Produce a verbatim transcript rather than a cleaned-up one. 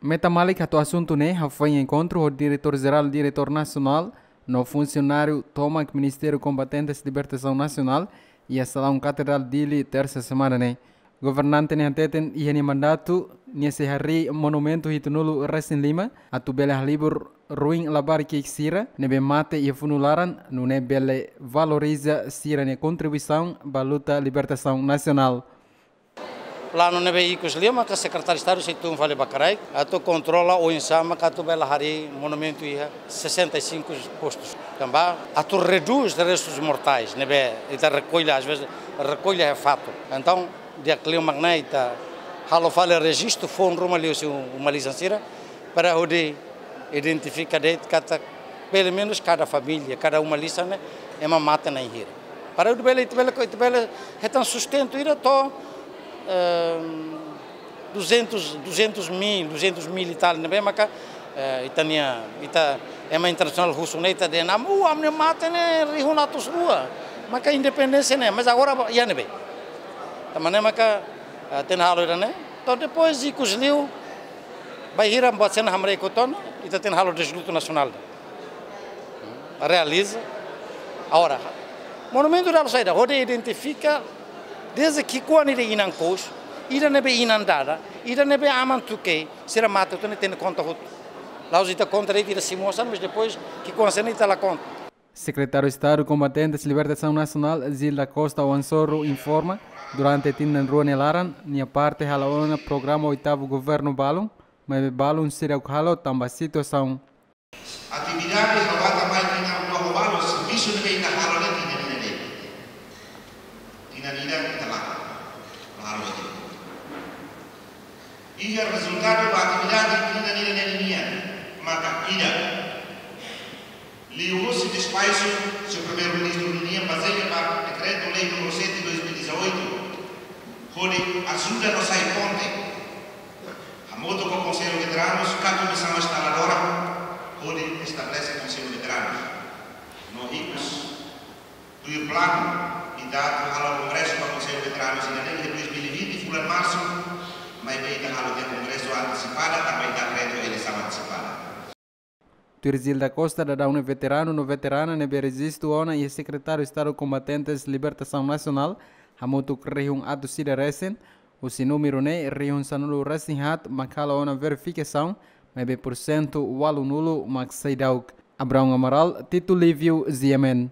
Meta malik atu asuntu ne'e hafoin enkontru ho Diretór Jerál Diretór Nasionál no funsionáriu tomak Ministériu Kombatentes Libertasaun Nasionál iha Salaun Katedrál Dili, tersa semana ne'e. Governante ne'e hateten iha nia mandatu nia sei harii monumentu hitunulu resin lima atu bele halibur ruin labarik sira ne'ebé mate iha funu laran, nune'e bele valoriza sira-nia kontribuisaun ba luta libertasaun nasionál. Planu ne'ebé ikus liu maka Sekretáriu Estadu sei tun fali ba kraik atu kontrola oinsá maka atu bele harii monumentu iha sessenta e cinco postos. Tanba atu redús restus mortais ne'ebé ita rekolla, às vezes, rekolla é fato. Entaun, di'ak liu mak ne'e ita halo fali rejistu foun ruma liuhusi uma-lisan sira para hodi identifika de'it katak pelumenus kada família, kada uma-lisan ne'e ema mate na'in hira. Para ita bele, ita bele, ita bele hetan sustentu ida to'o, ehm, duzentos, duzentos mil, duzentos mil e tal ne'ebé maka, eh, ita-nia, ita ema internasionál husu ne'e ita dehan, "Amu, ami-nia mate ne'e rihun atus rua." Maka independénsia ne'e, mas agora iha ne'ebé. Tanba ne'e maka, eh, tenke halo ida-ne'e. To'o depois ikus liu, bainhira buat sira-ne'e hamriik hotu ona, ita tenke halo deslutu nasionál. Realiza. Agora, monumentu ida halo saida, hodi identifika dezde ki'ikoan ida inan kous, ida ne'ebé inan dada, ida ne'ebé aman tuke, sira mate hotu ne'e tenke konta hotu. La'ós ita konta de'it ita simu osan, mas depois ki'ikoan sira-ne'e ita la konta. Sekretáriu Estadu Kombatentes Libertasaun Nasionál, Gil da Costa Wansoru, informa, durante tinan rua nia laran, nia parte hala'o ona programa oitavu governu balun, maibé balun seidauk halo tanba situasaun. Atividade ha'u ata mai tinan rua ho balu, servisu ne'ebé ita halo ne'e tinan ida de'it. Tinan ida ita la halo de'it. Iha rezultadu ba atividade tinan ida ne'e nian, maka ida. Liuhusi despaxu Señór Primeiru-Ministru ninian bazeia ba Dekretu-Lei número sete dois mil e dezoito, hodi ajuda no sai ponte. Hamutuk ho Konsellu Veteranus, ka komisaun instaladora, hodi estabelese Konsellu Veteranus. No ikus, tuir planu, ita atu halo kongresu ba Konsellu Veteranus iha dois mil e vinte, fulan Marsu, maibé ita halo tiha kongresu antesipada, tanba ita kreta eleisaun antesipada. Tuir Gil da Costa, daudaun ne'e veteranu no veterana ne'ebé rejistu ona iha Sekretáriu Estadu Kombatentes Libertasaun Nasionál, hamutuk rihun atus ida resin, husi númeru ne'e rihun sanulu resin haat mak halo ona verifikasaun, maibé pursentu ualunulu mak seidauk. Abraão Amaral, Tito Lívio, G M N.